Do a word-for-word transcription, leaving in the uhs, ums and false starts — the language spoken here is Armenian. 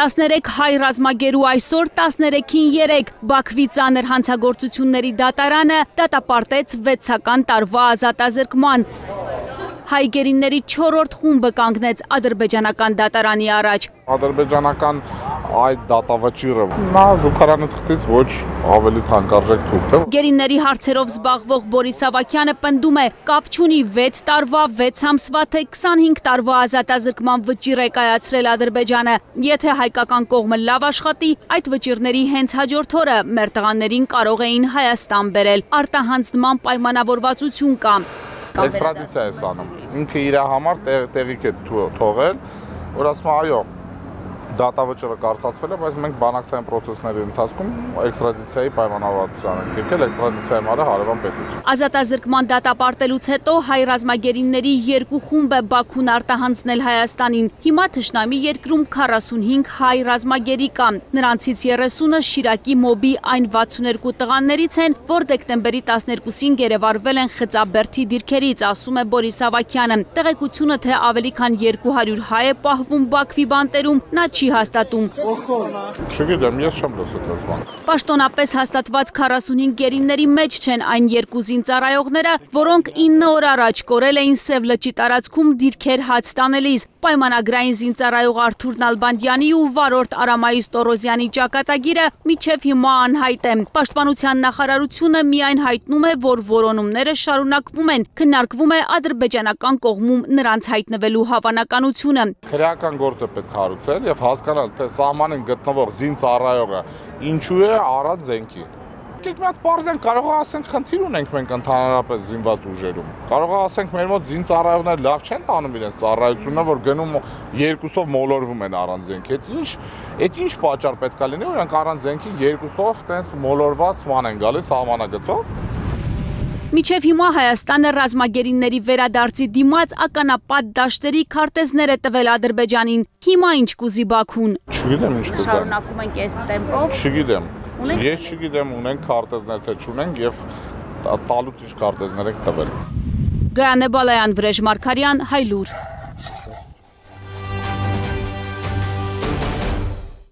տասներեք հայ ռազմագերու այսօր տասներեքին երեք Բաքվի ծանր հանցագործությունների դատարանը դատապարտեց վեցական տարվա ազատազրկման։ Հայ գերիների չորրորդ խումբը կանգնեց ադրբեջանական դատարանի առաջ։ Ադրբեջանական այդ դատավճիռը նա զուգարանի թղթից ոչ ավելի թանկարժեք թուղթ է։ Գերիների հարցերով զբաղվող Բորիս Ավագյանը պնդում է, կապ չունի վեց տարվա, վեց ամսվա թե քսանհինգ տարվա ազատազրկման վճիռ է կայացրել Ադրբեջանը։ Եթե հայկական կողմը լավ աշխատի, այդ վճիռների հենց հաջորդ օրը մեր տղաներին կարող էին Հայաստան բերել։ Արտահանձնման պայմանավորվածություն կա։ Էքստրադիցիա է անում։ Ինքը իր համար տեղիք է թողել, որ ասում այո, դատավճիռը կարդացվել է, բայց մենք բանակցային պրոցեսների ընթացքում էքստրադիցիայի պայմանավորվածություն ենք եկել, էքստրադիցիայի համար հարևան պետություն։ Ազատազրկման դատապարտելուց հետո հայ ռազմագերիների երկու խումբ է Բաքուն արտահանձնել Հայաստանին։ Հիմա թշնամի երկրում քառասունհինգ հայ ռազմագերի կա։ Նրանցից երեսունը Շիրակի մոբի այն վաթսուներկու տղաներից են, որ դեկտեմբերի տասներկուսին գերեվարվել են Խծաբերդի դիրքերից, ասում է Բորիս Ավագյանը։ Տեղեկությունը, թե ավելի քան երկու հարյուր հայ է պահվում Բաքվի բանտերում, նա չի հաստատում։ Չգիտեմ, ես չեմ լսել այս բանը։ Պաշտոնապես հաստատված քառասունհինգ գերիների մեջ չեն այն երկու զինծառայողները, որոնք ինը օր առաջ կորել էին Սև լճի տարածքում դիրքեր հաց տանելիս։ Պայմանագրային զինծառայող Արթուր Նալբանդյանի ու վարորդ Արամայիս Տորոզյանի ճակատագիրը մինչև հիմա անհայտ է։ Պաշտպանության նախարարությունը միայն հայտնում է, որ որոնումները շարունակվում են, քննարկվում է ադրբեջանական կողմում նրանց հայտնվելու հավանականությունը։ Քրեական գործ է պետք հարուցել եւ հասկանալ, թե սահմանին գտնվող զինծառայողը ինչու է առած զենքի։ Եկեք մի հատ բարձեն կարող է ասենք խնդիր ունենք մենք ընդհանրապես զինված ուժերում։ Կարող է ասենք մեր մոտ զինծառայողները լավ չեն տանում իրենց ծառայությունը, որ գնում երկուսով մոլորվում են առանց զենքի։ Այդ ինչ, այդ ինչ պատճառ պետք է լինի, որ նրանք առանց զենքի երկուսով տենց մոլորված ման են գալիս սահմանագծով։ Մինչև հիմա Հայաստանը ռազմագերիների վերադարձի դիմաց ականապատ դաշտերի քարտեզներ է տվել Ադրբեջանին։ Հիմա ինչ կուզի Բաքուն։ Չգիտեմ ինչ կուզեմ։ Շարունակում ենք այս տեմպով։ Չգիտեմ։ Ես չգիտեմ ունենք քարտեզներ թե չունենք եւ տալուց ինչ քարտեզներ եք տվել։ Գայանե Բալայան, Վրեժ Մարգարյան, Հայլուր։